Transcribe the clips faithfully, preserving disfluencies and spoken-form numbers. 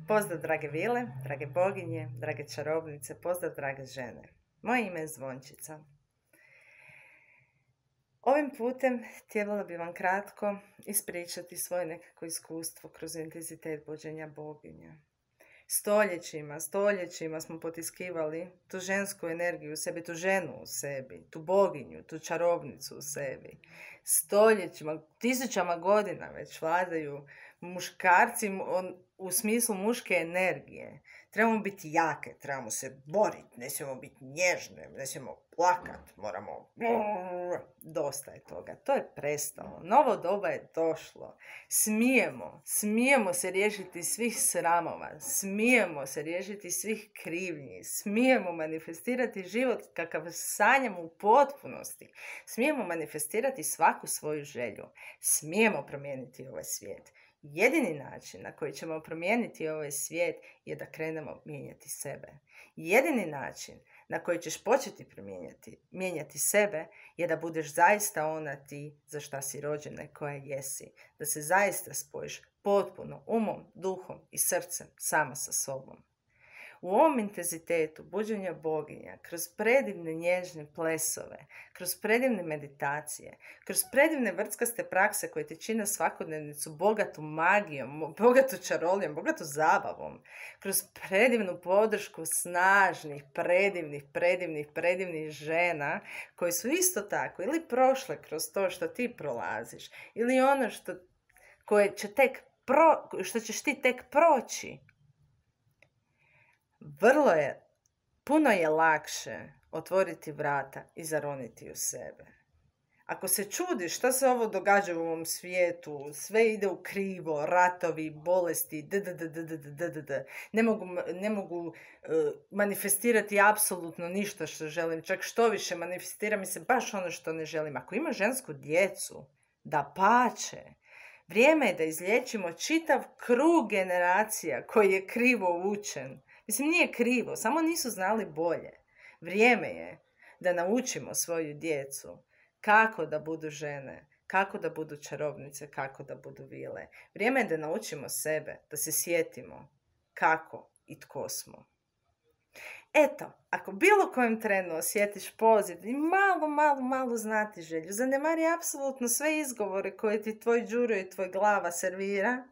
Pozdrav drage vile, drage boginje, drage čarobnice, pozdrav drage žene. Moje ime je Zvončica. Ovim putem htjela bi vam kratko ispričati svoje nekako iskustvo kroz intenzitet buđenja boginja. Stoljećima, stoljećima smo potiskivali tu žensku energiju u sebi, tu ženu u sebi, tu boginju, tu čarobnicu u sebi. Stoljećima, tisućama godina već vladaju muškarci u smislu muške energije. Trebamo biti jake, trebamo se boriti, ne smijemo biti nježne, ne smijemo plakat, moramo... Dosta je toga, to je prestalo. Novo doba je došlo. Smijemo, smijemo se riješiti svih sramova, smijemo se riješiti svih krivnji, smijemo manifestirati život kakav sanjamo u potpunosti, smijemo manifestirati svaku svoju želju, smijemo promijeniti ovaj svijet. Jedini način na koji ćemo promijeniti ovaj svijet je da krenemo mijenjati sebe. Jedini način na koji ćeš početi promijenjati, mijenjati sebe je da budeš zaista ona ti za šta si rođena i koja jesi. Da se zaista spojiš potpuno umom, duhom i srcem sama sa sobom. U ovom intenzitetu buđenja boginja, kroz predivne nježne plesove, kroz predivne meditacije, kroz predivne vrtskaste prakse koje te čine svakodnevnicu bogatu magijom, bogatu čarolijom, bogatu zabavom, kroz predivnu podršku snažnih, predivnih, predivnih, predivnih žena koje su isto tako ili prošle kroz to što ti prolaziš ili ono što, koje će tek pro, što ćeš ti tek proći. Vrlo je, puno je lakše otvoriti vrata i zaroniti u sebe. Ako se čudiš šta se ovo događa u ovom svijetu, sve ide u krivo, ratovi, bolesti, dddddddd, ne mogu, ne mogu uh, manifestirati apsolutno ništa što želim, čak što više manifestira mi se baš ono što ne želim. Ako ima žensku djecu, da pače. Vrijeme je da izliječimo čitav krug generacija koji je krivo učen. Mislim, nije krivo, samo nisu znali bolje. Vrijeme je da naučimo svoju djecu kako da budu žene, kako da budu čarobnice, kako da budu vile. Vrijeme je da naučimo sebe, da se sjetimo kako i tko smo. Eto, ako bilo kojem trenu osjetiš poziv i malo, malo, malo znati želju, zanemari apsolutno sve izgovore koje ti tvoj đuro i tvoj glava servira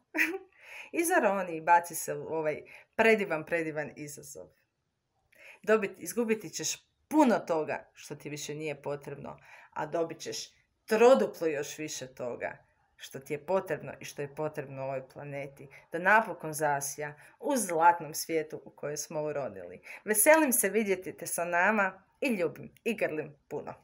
i zaroni i baci se u ovaj predivan, predivan izazov. Dobiti, izgubiti ćeš puno toga što ti više nije potrebno, a dobit ćeš troduplo još više toga što ti je potrebno i što je potrebno ovoj planeti, da napokon zasja u zlatnom svijetu u kojem smo urodili. Veselim se vidjeti te sa nama i ljubim i grlim puno.